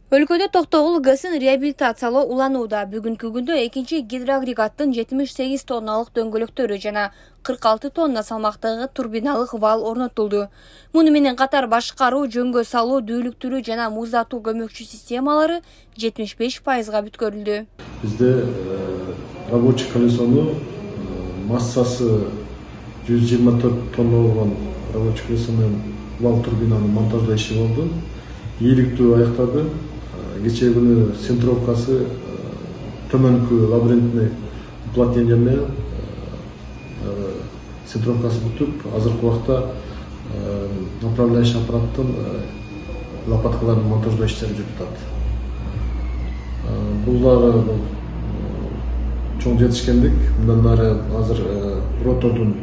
Өлкөдө Токтогул ГЭСин реабилитациялоо уланууда. Бүгүнкү күндө экинчи гидроагрегаттын 78 тонналык дөңгөлөктөрү жана 46 тонна салмактагы турбиналык вал орнотулду. Муну менен катар башкаруу, жөнгө салуу, дүүлүктүрүү жана муздатуу көмөкчү системалары 75%га бүткөрүлдү. Бизде рабочий колесону массасы 124 тонна болгон рабочий колесо менен вал турбинаны монтаждоо иши болду. Ийгиликтүү аяктады. Кечээ күнү центровкасы төмөнкү лабиринтный уплотнение менен центровкасы бүтүп, азыркы убакта направляющий аппараттын лопаткаларын монтаждоо иштери жүрүп атат. Бул дагы чоң жетишкендик. Мындан ары азыр ротордун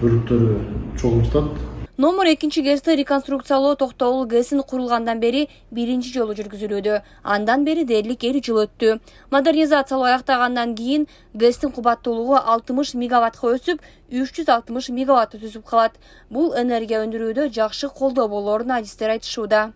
бөлүктөрү чогулуп жатат. Номер 2 ГЭСти реконструкциялоо Токтогул ГЭСин курулгандан бери биринчи жолу жүргүзүлүүдө. Андан бери дээрлик 2 жыл өттү. Модернизациялоо аяктагандан кийин ГЭСтин кубаттуулугу 60 мегаваттка өсүп, 360 мегаватты түзүп калат. Бул энергия өндүрүүдө жакшы колдоо болоорун адистер айтышууда.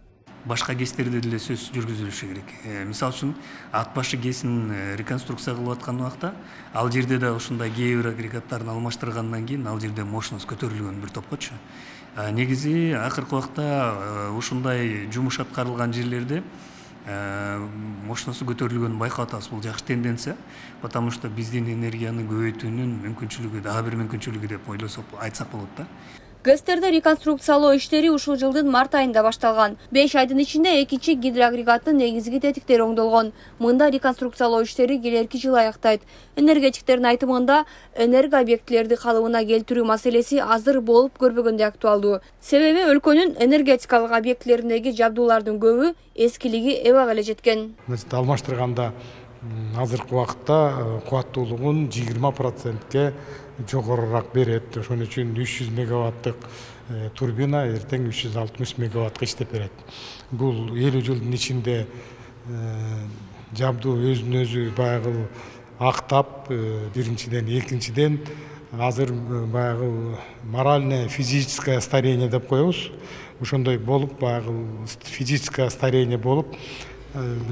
Башка ГЭСтерде деле сөз жүргүзүлүшү керек. Мисалы үчүн Ат башы ГЭСин реконструкция кылып аткан убакта ал жерде да ушундай кээ бир агрегаттарын алмаштыргандан кийин ал жерде мощность көтөрүлгөн бир топкочу. Негизи акыркы убакта ушундай жумуш аткарылган жерлерде мощносту көтөрүлгөнүн байкап атабыз. Бул жакшы тенденция, потому что биздин энергияны көбөйтүүнүн мүмкүнчүлүгү, дагы бир мүмкүнчүлүгү деп ойлосок, айтсак болот да. ГЭСтерде реконструкциялоо иштери ушул жылдын март айында башталган. 5 айдын ичинде экинчи гидроагрегаттын негизги тетиктери оңдолгон. Мында реконструкциялоо иштери келерки жылы аяктайт. Энергетиктердин айтымында, энерго объектилерди калыбына келтирүү маселеси азыр болуп көрбөгөндөй актуалдуу. Себеби өлкөнүн энергетикалык объектилериндеги жабдуулардын көбү эскилиги эбак эле жеткен. Алмаштырганда азыркы убакытта кубаттуулугун 20%ке жогорураак берет. Ошон үчүн 300 мегаваттык турбина эртең 360 мегаваттка иштеп берет. Бул 50 жылдын ичинде жабдуу өзүн өзү баягы актап, биринчиден, экинчиден азыр баягы моральное, физическое старение деп коебуз. Ошондой болуп, баягы физическое старение болуп,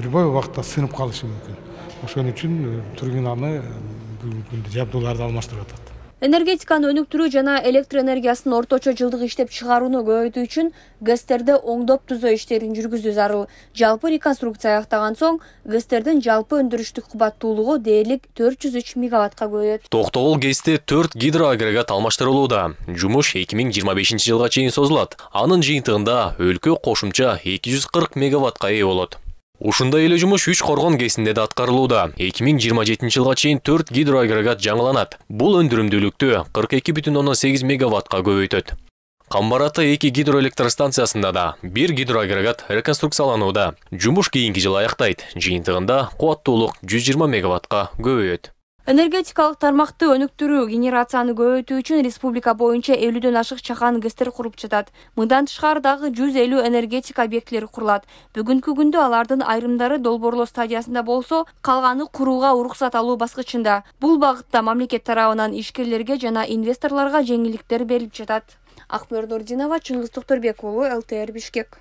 любой убакта сынып калышы мүмкүн. Ошон үчүн турбинаны бүгүнкү күндө жабдууларды алмаштырып атат. Энергетиканы өнүктүрүү жана электр энергиясын орточо жылдык иштеп чыгарууну көбөйтүү үчүн ГЭСтерде оңдоп түзөө иштерин жүргүзүү зарыл. Жалпы реконструкция аяктаган соң ГЭСтердин жалпы өндүрүштүк кубаттуулугу дээрлик 403 мегаваттка көбөйөт. Токтогул ГЭСте 4 гидроагрегат алмаштырылууда. Жумуш 2025 жылга чейин созулат. Анын жыйынтыгында өлкө кошумча 240 мегаваттка ээ болот. Ушундай эле жумуш 3 Коргон ГЭСинде да аткарылууда. 2027 жылга чейин 4 гидроагрегат жаңыланат. Бул өндүрүмдүүлүктү 42,8 мегаваттка көбөйтөт. Камбараты 2 гидроэлектростанциясында да 1 гидроагрегат реконструкцияланууда. Жумуш кийинки жылы аяктайт. Жыйынтыгында кубаттуулук 120 мегаваттка көбөйөт. Энергетикалык тармакты өнүктүрүү, генерацияны көбөйтүү үчүн республика боюнча 50дөн ашык чакан ГЭСтер куруп жатат. Мындан тышкары дагы 150 энергетика объектилери курулат. Бүгүнкү күндө алардын айрымдары долбоорлоо стадиясында болсо, калганы курууга уруксат алуу баскычында. Бул багытта мамлекет тарабынан ишкерлерге жана инвесторлорго жеңилдиктер берилип жатат. Акмөр Нурдинова, Чыңгыз Токторбек уулу, ЛТР Бишкек.